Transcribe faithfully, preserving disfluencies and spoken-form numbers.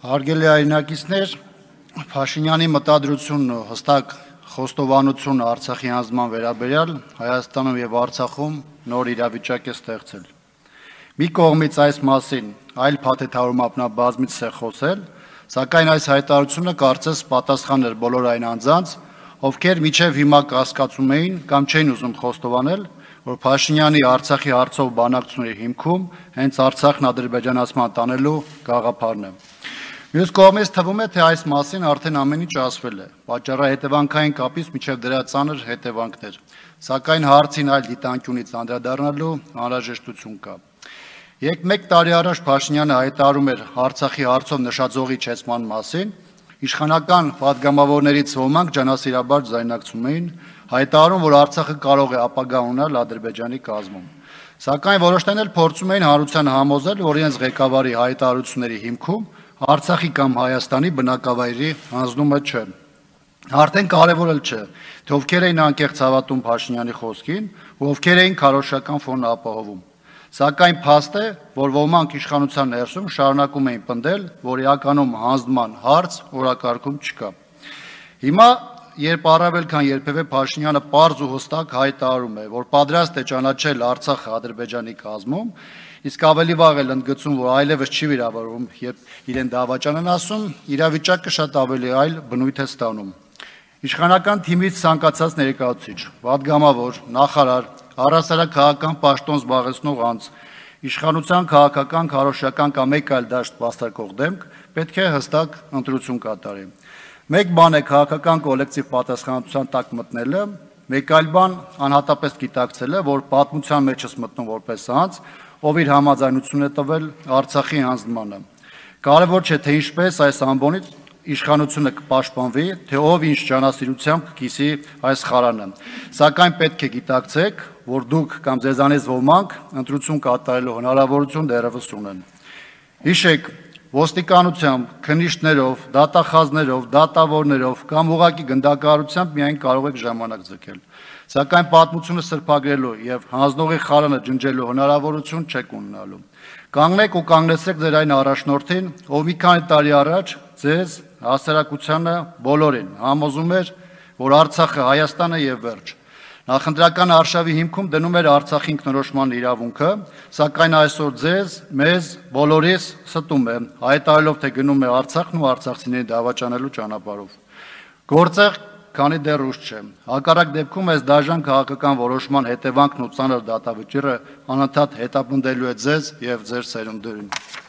Հարգելի հայրենակիցներ, Փաշինյանի մտադրությունն ու հստակ խոստովանությունը Արցախի հանձնման վերաբերյալ Հայաստանում եւ Արցախում նոր իրավիճակ է ստեղծել։ Մի կողմից այս մասին այլ փաթեթավորումով նա բազմիցս է խոսել, սակայն այս հայտարարությունը կարծես պատասխան էր բոլոր այն անձանց, ովքեր մինչև հիմա կասկածում էին կամ չէին ուզում խոստովանել, որ Փաշինյանի Արցախի հարցով բանակցությունների հիմքում հենց Արցախն ադրբեջանացման տանելու գաղափարն է։ Մյուս կողմից թվում է, թե այս մասին արդեն ամեն ինչ ասվել է, պատճառահետևանքային կապից մինչև դրա ծանր հետևանքներ, սակայն հարցին այլ դիտանկյունից անդրադառնալու անհրաժեշտություն կա։ Երբ մեկ տարի առաջ Փաշինյանը հայտարարում էր Արցախի հարցով նշաձողի չեցման մասին, իշխանական պատգամավորներից ոմանք ջանասիրաբար ձայնարկում էին, հայտարարում, որ Արցախը կարող է ապագա ունենալ Ադրբեջանի կազմում։ Սակայն որոշներն էլ փորձում էին հանրությանը համոզել, որ իրենց ղեկավարի հայտարարությունների հիմքում Արցախի կամ Հայաստանի բնակավայրի հանձնումը չէ։ Արդեն կարևոր էլ չէ, թե ովքեր էին անկեղծ հավատում Փաշինյանի խոսքին ու ովքեր էին քարոզչական ֆոնը ապահովում։ Սակայն փաստ է, որ ոմանք իշխանության ներսում շարունակում էին պնդել, որ իրականում հանձնման հարց օրակարգում չկա։ Հիմա, երբ առավել քան երբևէ Փաշինյանը պարզ ու հստակ հայտարարում է, որ պատրաստ է ճանաչել Արցախը Ադրբեջանի կազմում, իսկ ավելի վաղ էլ ընդգծում, որ այլևս չի վիրավորվում, երբ իրեն դավաճան են ասում, իրավիճակը շատ ավելի այլ բնույթ է ստանում։ Իշխանական թիմից ցանկացած ներկայացուցիչ, պատգամավոր, նախարար, առհասարակ քաղաքական պաշտոն զբաղեցնող անձ, իշխանության քաղաքական, քարոզչական կամ մեկ այլ դաշտ վաստակող դեմք պետք է հստակ ընտրություն կատարի։ Մեկ բան է քաղաքական կոլեկտիվ պատասխանատվության տակ մտնելը, մեկ այլ բան անհատապես գիտակցելը, որ պատմության մեջ ես մտնում որպես անձ, ով իր համաձայնությունն է տվել Արցախի հանձնմանը։ Կարևոր չէ, թե ինչպես այս ամբոնից իշխանությունը կպաշտպանվի, թե ով ինչ ջանասիրությամբ կկիսի այս խարանը։ Սակայն պետք է գիտակցեք, որ դուք կամ ձեզանից ոմանք ընտրություն կատարելու հնարավորություն դեռևս ունեն։ Հիշեք, ոստիկանությամբ, քննիչներով, դատախազներով, դատավորներով կամ ուղղակի գնդակահարությամբ միայն կարող եք ժամանակ ձգել։ Սակայն պատմությունը սրբագրելու եւ հանձնողի խարանը ջնջելու հնարավորություն չեք ունենալու։ Կանգնեք ու կանգնեցեք ձեր այն առաջնորդին, ով մի քանի տարի առաջ ձեզ հասարակությանը բոլորին համոզում էր, որ Արցախը Հայաստանը եւ վերջ։ Նախընտրական արշավի հիմքում դնում էր Արցախի ինքնորոշման իրավունքը, սակայն այսօր ձեզ, մեզ, բոլորիս ստում է, հայտարարելով, թե գնում է Արցախն ու արցախցիներին դավաճանելու ճանապարհով։ Գործեղ, քանի դեռ ուշ չէ։ Հակառակ դեպքում այս դաժան քաղաքական որոշման հետևանքն ու ծանր դատավճիռը անընդհատ հետապնդելու է ձեզ եւ ձեր սերունդերին։